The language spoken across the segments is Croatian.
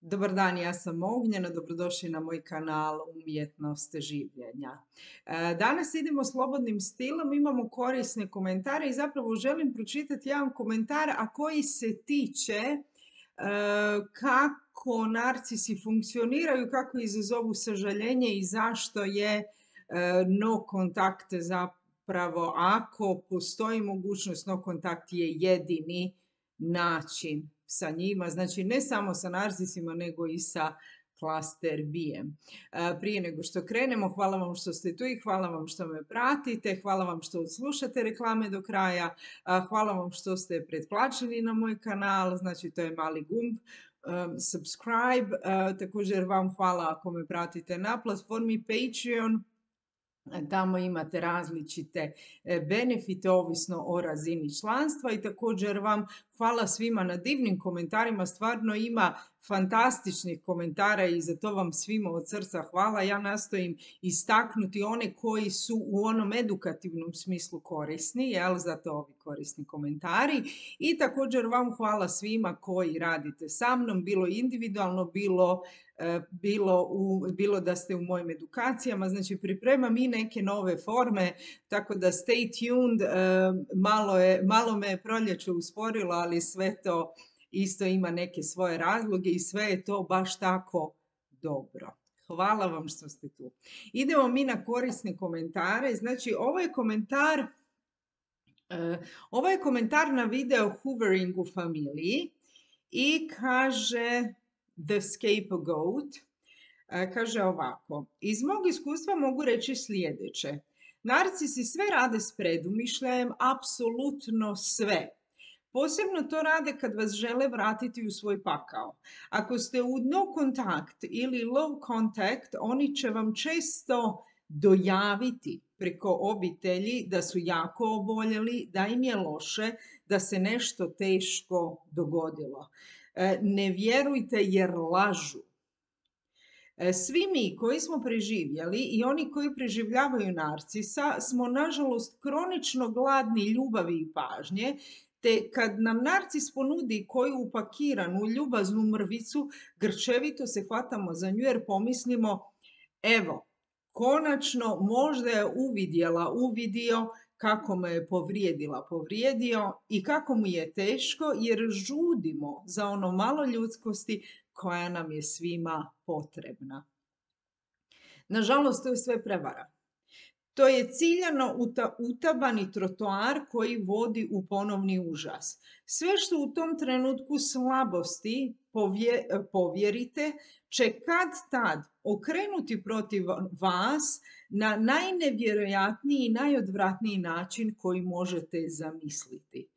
Dobar dan, ja sam Ognjena, dobrodošli na moj kanal Umjetnost življenja. Danas idemo slobodnim stilom, imamo korisne komentare i zapravo želim pročitati jedan komentar, a koji se tiče kako narcisi funkcioniraju, kako izazovu sažaljenje i zašto je no kontakt zapravo, ako postoji mogućnost, no kontakt je jedini način sa njima, znači ne samo sa narcisima, nego i sa klaster B-em. Prije nego što krenemo, hvala vam što ste tu i hvala vam što me pratite, hvala vam što slušate reklame do kraja, hvala vam što ste pretplaćeni na moj kanal, znači to je mali gumb, subscribe, također vam hvala ako me pratite na platformi Patreon. Tamo imate različite benefite ovisno o razini članstva i također vam hvala svima na divnim komentarima, stvarno ima fantastičnih komentara i za to vam svima od srca hvala. Ja nastojim istaknuti one koji su u onom edukativnom smislu korisni, jel, zato ovi korisni komentari. I također vam hvala svima koji radite sa mnom, bilo individualno, bilo da ste u mojim edukacijama, znači pripremam i neke nove forme, tako da stay tuned, malo me je proljeće usporilo, ali sve to isto ima neke svoje razloge i sve je to baš tako dobro. Hvala vam što ste tu. Idemo mi na korisne komentare, znači ovo je komentar na video Hoovering u familiji i kaže The Scapegoat, kaže ovako: iz mog iskustva mogu reći sljedeće. Narcisi sve rade s predumišljajem, apsolutno sve. Posebno to rade kad vas žele vratiti u svoj pakao. Ako ste u no contact ili low contact, oni će vam često dojaviti preko obitelji da su jako oboljeli, da im je loše, da se nešto teško dogodilo. Ne vjerujte jer lažu. Svi mi koji smo preživjeli i oni koji preživljavaju narcisa smo nažalost kronično gladni ljubavi i pažnje, te kad nam narcis ponudi koju upakiranu ljubaznu mrvicu, grčevito se hvatamo za nju jer pomislimo, evo, konačno možda je uvidio kako me je povrijedio i kako mu je teško jer žudimo za ono malo ljudskosti koja nam je svima potrebna. Nažalost, to je sve prevara. To je ciljano utabani trotoar koji vodi u ponovni užas. Sve što u tom trenutku slabosti povjerite će kad tad okrenuti protiv vas na najnevjerojatniji i najodvratniji način koji možete zamisliti.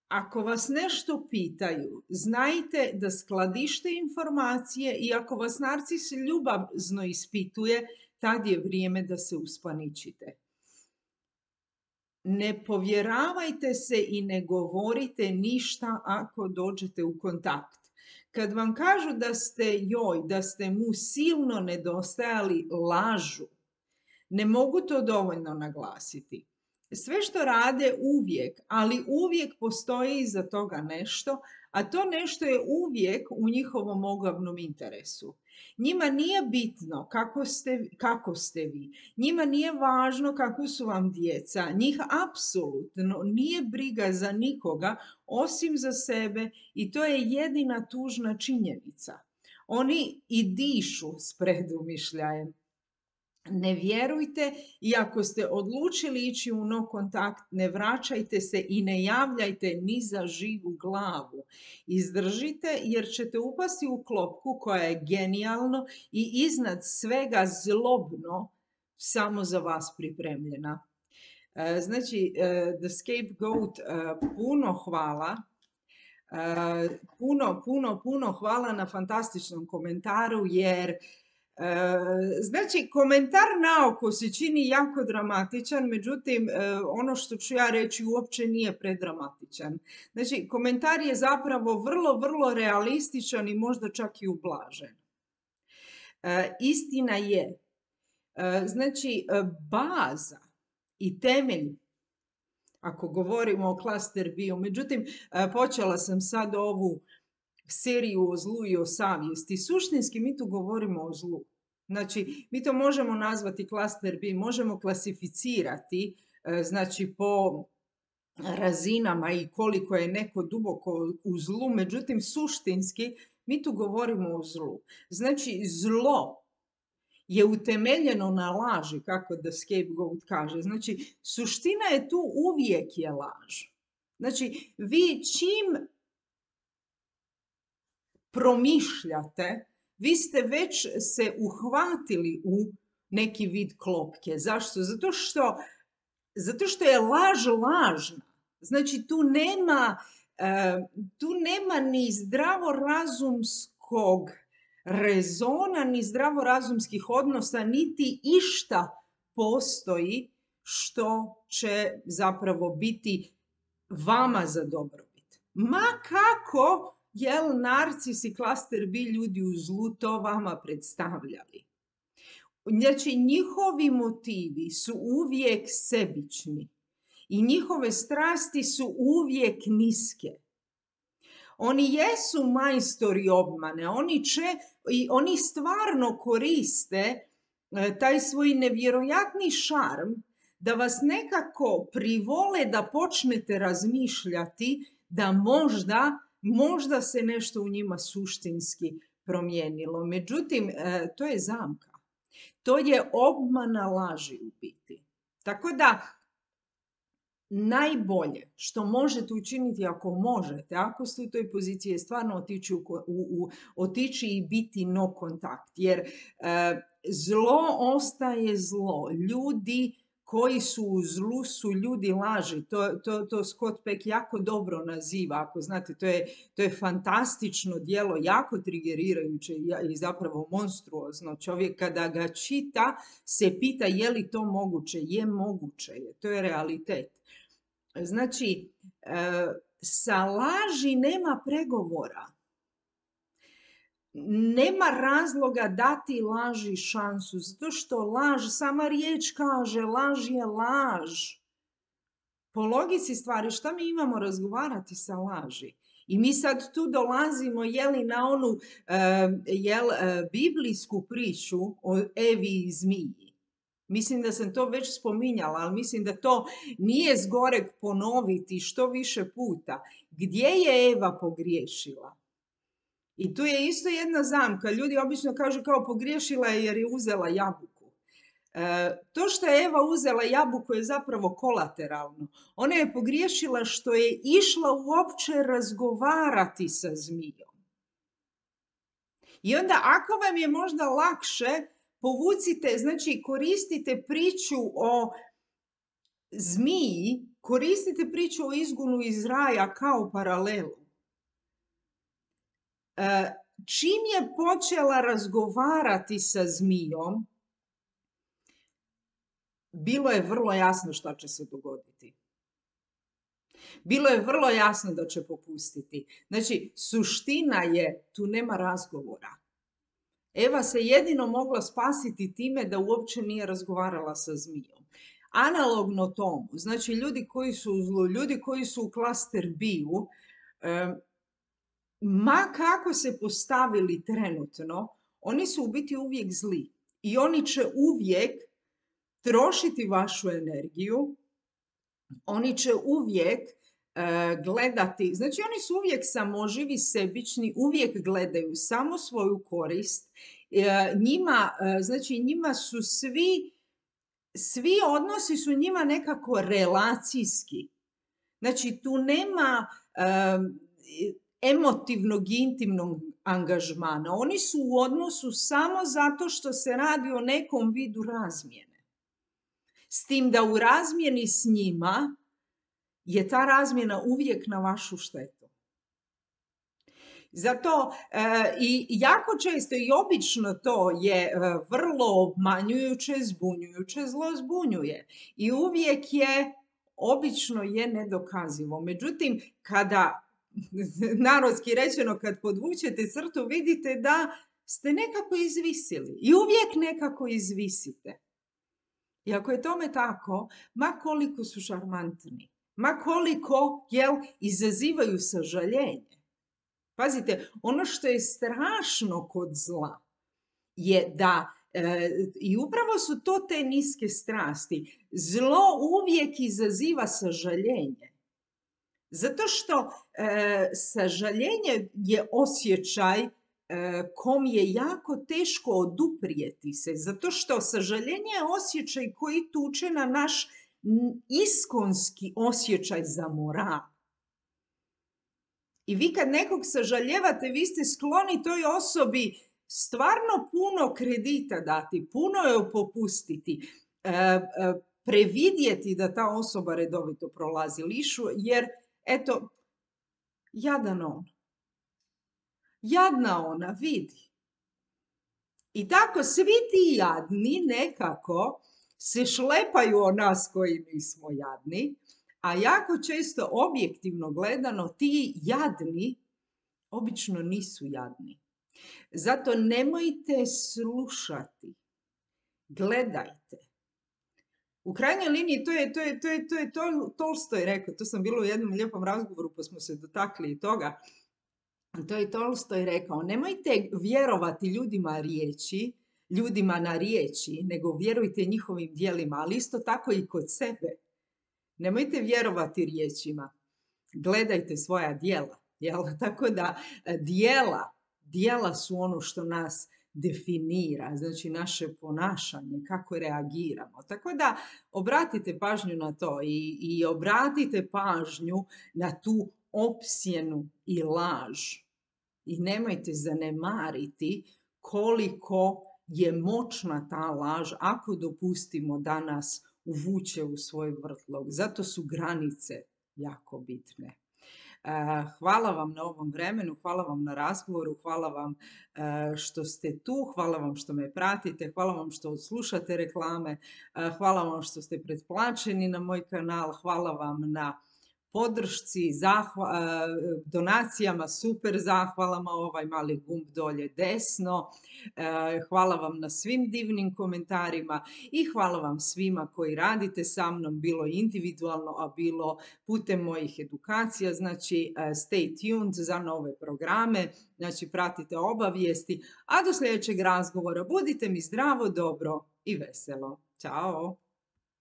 Ako vas nešto pitaju, znajte da skladište informacije i ako vas narcis ljubazno ispituje, tad je vrijeme da se uspaničite. Ne povjeravajte se i ne govorite ništa ako dođete u kontakt. Kad vam kažu da ste mu silno nedostajali, lažu. Ne mogu to dovoljno naglasiti. Sve što rade uvijek, ali uvijek postoji iza toga nešto, a to nešto je uvijek u njihovom oglavnom interesu. Njima nije bitno kako ste vi, njima nije važno kako su vam djeca, njih apsolutno nije briga za nikoga osim za sebe i to je jedina tužna činjenica. Oni i dišu s predumišljajem. Ne vjerujte i ako ste odlučili ići u no kontakt, ne vraćajte se i ne javljajte ni za živu glavu. Izdržite jer ćete upasti u klopku koja je genijalno i iznad svega zlobno samo za vas pripremljena. Znači, The Scapegoat, puno hvala. Puno hvala na fantastičnom komentaru jer znači, komentar naoko se čini jako dramatičan, međutim, ono što ću ja reći uopće nije predramatičan. Znači, komentar je zapravo vrlo realističan i možda čak i ublažen. Istina je, znači, baza i temelj ako govorimo o klaster bio. Međutim, počela sam sad ovu seriju o zlu i o savjesti. Suštinski mi tu govorimo o zlu. Znači, mi to možemo nazvati klaster B, možemo klasificirati, znači po razinama i koliko je neko duboko u zlu, međutim, suštinski mi tu govorimo o zlu. Znači, zlo je utemeljeno na laži, kako The Scapegoat kaže. Znači, suština je tu uvijek je laž. Znači, vi čim promišljate, vi ste već se uhvatili u neki vid klopke. Zašto? Zato što je laž lažna. Znači, tu nema ni zdravorazumskog rezona, ni zdravorazumskih odnosa, niti išta postoji što će zapravo biti vama za dobrobit. Ma kako narcis i klaster B ljudi u zlu to vama predstavljali. Znači, njihovi motivi su uvijek sebični i njihove strasti su uvijek niske. Oni jesu majstori obmane, oni stvarno koriste taj svoj nevjerojatni šarm da vas nekako privole da počnete razmišljati da možda se nešto u njima suštinski promijenilo. Međutim, to je zamka. To je obmana laži u biti. Tako da, najbolje što možete učiniti ako možete, ako ste u toj poziciji, je stvarno otići i biti no kontakt. Jer zlo ostaje zlo. Ljudi koji su u zlu su ljudi laži. To Scott Peck jako dobro naziva. Ako znate, to je fantastično djelo, jako trigerirajuće i zapravo monstruozno. Čovjek kada ga čita se pita je li to moguće. Je moguće. To je realitet. Znači, sa laži nema pregovora. Nema razloga dati laži šansu, zato što laž, sama riječ kaže, laž je laž. Po logici stvari, šta mi imamo razgovarati sa laži? I mi sad tu dolazimo, na onu biblijsku priču o Evi i zmiji. Mislim da sam to već spominjala, ali mislim da to nije zgoreg ponoviti što više puta. Gdje je Eva pogriješila? I tu je isto jedna zamka. Ljudi obično kažu kao pogriješila je jer je uzela jabuku. To što je Eva uzela jabuku je zapravo kolateralno. Ona je pogriješila što je išla uopće razgovarati sa zmijom. I onda ako vam je možda lakše, povucite, znači koristite priču o zmiji, koristite priču o izgonu iz raja kao paralelu. Čim je počela razgovarati sa zmijom, bilo je vrlo jasno šta će se dogoditi. Bilo je vrlo jasno da će popustiti. Znači, suština je, tu nema razgovora. Eva se jedino mogla spasiti time da uopće nije razgovarala sa zmijom. Analogno tomu, znači ljudi koji su u zlu, ljudi koji su u klaster B-u, ma kako se postavili trenutno, oni su u biti uvijek zli. I oni će uvijek trošiti vašu energiju, oni će uvijek gledati, znači oni su uvijek samoživi, sebični, uvijek gledaju samo svoju korist. Njima su svi odnosi su njima nekako relacijski. Znači tu nema emotivnog i intimnog angažmana. Oni su u odnosu samo zato što se radi o nekom vidu razmjene. S tim da u razmjeni s njima je ta razmjena uvijek na vašu štetu. Zato i jako često i obično to je vrlo obmanjujuće, zbunjujuće, zlo zbunjuje. I uvijek je, obično je nedokazivo. Međutim, kada, narodski rečeno, kad podvučete crtu, vidite da ste nekako izvisili. I uvijek nekako izvisite. I ako je tome tako, ma koliko su šarmantni, ma koliko, izazivaju sažaljenje. Pazite, ono što je strašno kod zla je da, i upravo su to te niske strasti, zlo uvijek izaziva sažaljenje. Zato što sažaljenje je osjećaj kom je jako teško oduprijeti se, zato što sažaljenje je osjećaj koji tuče na naš iskonski osjećaj za moral. I vi kad nekog sažaljevate, vi ste skloni toj osobi stvarno puno kredita dati, puno joj popustiti, previdjeti da ta osoba redovito prolazi lišu, jer eto, jadan on. Jadna ona, vidi. I tako svi ti jadni nekako se šlepaju o nas koji nismo jadni, a jako često objektivno gledano ti jadni obično nisu jadni. Zato nemojte slušati, gledajte. U krajnjoj liniji to je Tolstoj rekao, to sam bila u jednom lijepom razgovoru pa smo se dotakli i toga. To je Tolstoj rekao, nemojte vjerovati ljudima na riječi, nego vjerujte njihovim djelima, ali isto tako i kod sebe. Nemojte vjerovati riječima, gledajte svoja djela. Tako da djela su ono što nas definira, znači naše ponašanje, kako reagiramo. Tako da obratite pažnju na to i obratite pažnju na tu opsjenu i laž. I nemojte zanemariti koliko je moćna ta laž ako dopustimo da nas uvuče u svoj vrtlog. Zato su granice jako bitne. Hvala vam na ovom vremenu, hvala vam na razgovoru, hvala vam što ste tu, hvala vam što me pratite, hvala vam što slušate reklame, hvala vam što ste pretplaćeni na moj kanal, hvala vam na podršci, donacijama, super zahvalama, ovaj mali gumb dolje desno. Hvala vam na svim divnim komentarima i hvala vam svima koji radite sa mnom, bilo individualno, a bilo putem mojih edukacija. Znači, stay tuned za nove programe, znači pratite obavijesti, a do sljedećeg razgovora budite mi zdravo, dobro i veselo. Ćao!